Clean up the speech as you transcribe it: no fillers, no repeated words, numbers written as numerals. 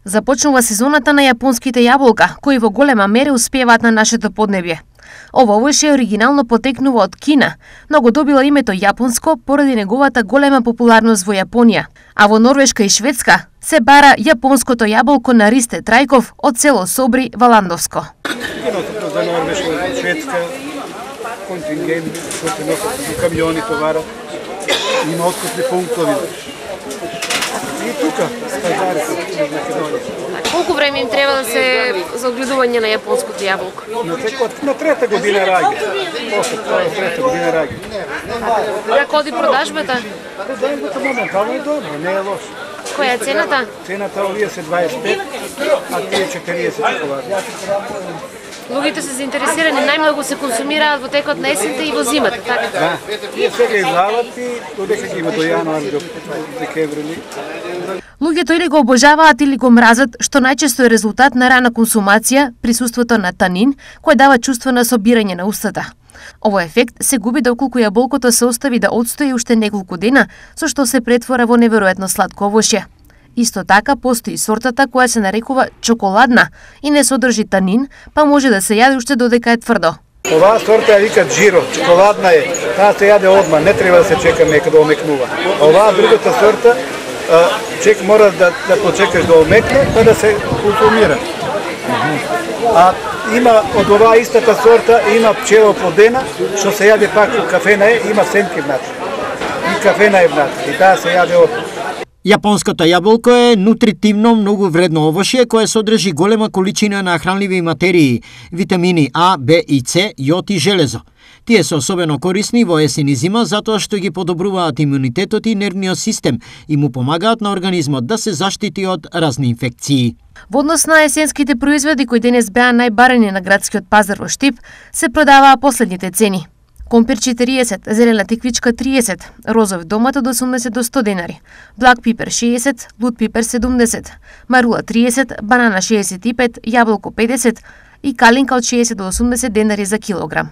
Започнува сезоната на јапонските јаболка, кои во голема мера успеваат на нашето поднебје. Ова овојше оригинално потекнува од Кина, но го добило името јапонско поради неговата голема популарност во Јапонија. А во Норвешка и Шведска се бара јапонското јаболко на Ристе Трајков од село Собри во Ландовско. За Норвешка, Шведска, контингент, кои се носат камиони, товара, има откупни пунктови. И тука, стадарите, на Македонија. Колку време им треба да се за огледување на јапонското јаболко? На трета година раѓа. После трета година раѓа. Како оди продажбата? Продажбата моментално е добро, не е лошо. Која е цената? Цената овие се 25, а тие 40 чоколади. Луѓето се заинтересирани, најмногу се консумираат во текот на есента и во зимата, така? Да, тие сега излават и додека ги има до јануари, до декември. Луѓето или го обожаваат или го мразат, што најчесто е резултат на рана консумација, присуството на танин, кој дава чувство на собирање на устата. Овој ефект се губи доколку јаболкото се остави да отстои уште неколку дена, со што се претвора во неверојатно сладко овошје. Исто така постои сортата која се нарекува чоколадна и не содржи танин, па може да се јаде уште додека е тврдо. Оваа сорта ја викат джиро, чоколадна е, таа се јаде одма, не треба да се чека нека да омекнува. Оваа другата сорта, мора да почекаш да омекне, па да се консумира. А има од оваа истата сорта, има пчела плодена, што се јаде пак во кафена е, има сенки внатре. И кафена е внатре, и таа се јаде одма. Јапонското јаболко е нутритивно многу вредно овошје кое содржи голема количина на хранливи материи, витамини А, Б и С, јод и железо. Тие се особено корисни во есен и зима затоа што ги подобруваат имунитетот и нервниот систем и му помагаат на организмот да се заштити од разни инфекции. Во однос на есенските производи кои денес беа најбарани на градскиот пазар во Штип, се продаваа последните цени. Компир 40, зелена тиквичка 30, розов домат од 80 до 100 денари, блак пипер 60, лут пипер 70, марула 30, банана 65, јаболко 50 и калинка од 60 до 80 денари за килограм.